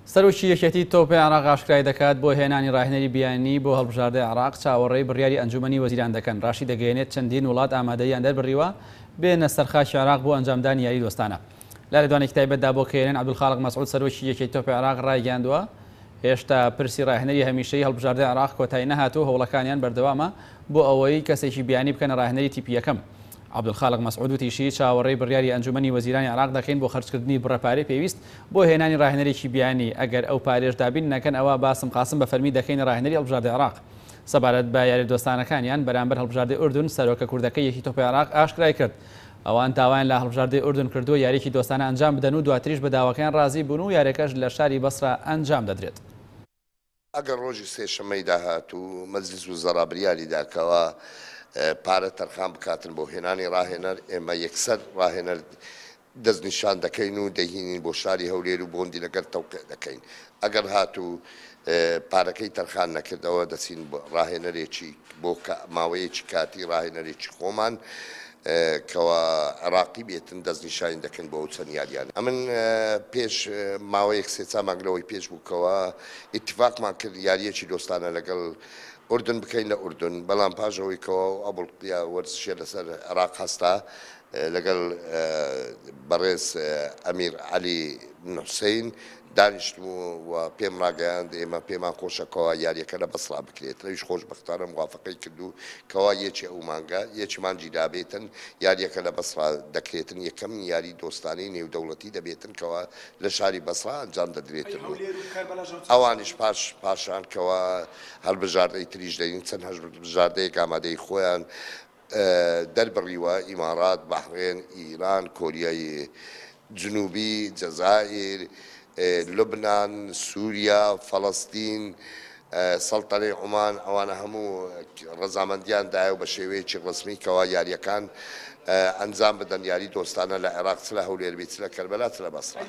سەرۆکی یەکێتی تۆپی عێراق ئاشکرای دەکات، بۆ هێنانی راهێنەری بیانی بۆ هەڵبژاردەی عێراق چاوەڕێی بڕیاری ئەنجومەنی وەزیران دەکەن، راشیدەگەیەنێت چەندین وڵات ئامادەییان دەربڕیوە بێنە سەر خاکی عێراق بۆ ئەنجامدانی یاری دۆستانە. لە لێدوانێکی تایبەتدا بۆ کەیەنەن عەبدولخالق مەسعود سەرۆکی یەکێتی تۆپی عێراق رایگەیاندووە، هێشتا پرسی راهێنەری هەمیشەیی هەڵبژاردەی عێراق کۆتایی نەهاتووە و هەوڵەکانیان بەردەوامە بۆ ئەوەی کەسێکی بیانی بکەنە راهێنەری تیپی یەکەم. عەبدولخالق مەسعود وتیشی، چاوەڕێی بڕیاری ئەنجومەنی وەزیرانی عێراق دەکەین بۆ خەرجکردنی بڕە پارەی پێویست بۆ هێنانی راهێنەرێکی بیانی، ئەگەر ئەو پارەیەش دابین نەکەن ئەوا باسم قاسم بە فەرمی دەکەینە راهێنەری هەڵبژاردەی عێراق. سەبارەت بە یاریە دۆستانەکانیان بەرامبەر هەڵبژاردەی ئوردن، سەرۆکە کوردەکەی یەکی تۆپی عێراق ئاشکرای کرد، ئەوان داوایان لە هەڵبژاردەی ئوردن کردووە یاریەکی دۆستانە ئەنجام بدەن و دواتریش بە داواکەیان رازی بوون و یاریەکەش لە شاری بەسرە ئەنجام دەدرێت. ئەگەر ڕۆژی سێشەممەی داهاتوو مەجلیس وزەرا بریاری دا کەوا پارە تەرخان بکاتن بۆ هێنانی ڕاهێنەر، ئێمە یەکسەر ڕاهێنەر دەستنیشان دەکەین و دەیهینین بۆ شاری هەولێر و بۆندی لەگەل تەوقیع دەکەین. ئەگەر هاتوو پارەکەی تەرخان نەکرد ئەوە دەچین ڕاهێنەرێکی بۆ ماوەیەکی کاتی ڕاهێنەرێکی خۆمان کەوا عێراقی بێتن دەستنیشانی دەکەین بۆ ئەو چەند یاریانە. ئەمن پێش ماوەیەک سێ چار مانگ لەوەی پێش بوو کەوا ئیتیفاقمان کرد یارییەکی دۆستانە لەگەڵ ئوردن بکەین لە ئوردن، بەڵام پاش ئەوەی کەوا ئەو ئابڵقیە وەرزشیە لەسەر عێراق هەستا لەگەڵ بەڕێز ئەمیر عەلی بن حوسەین دانیشتم و پێم ڕاگەیاند ئێمە پێمان خۆشە کەوا یاریەکە لە بەسڕا بکرێت، ئەویش خۆشبەختانە موافەقەی کرد و کەوا یەکی ئەو مانگە، یەکی مانگی دابێتن یاریەکە لە بەسڕا دەکرێتن، یەکەم یاری دۆستانەی نێودەوڵەتی دەبێتن کەوا لە شاری بەسڕا ئەنجام دەدرێتن و ئەوانیش پاش پاشان کەوا هەڵبژاردەی تریش دەین، چەند هەڵبژاردەیەک ئامادەی خۆیان دەربڕیوە، ئیماڕات، بەحرێن، ئیران، کۆریای جنوبی، جەزائیر، لوبنان، سوریا، فەڵەستین، سەڵتەنەی عومان، ئەوانە هەموو ڕەزامەندیان دایە و بە شێوەیەکی ڕەسمی کەوا یارییەکان ئەنجام بدەن، یاری دۆستانە لە عێراق چ لە هەولێر بی چ لە کەربەلا چ لە بەسڕە.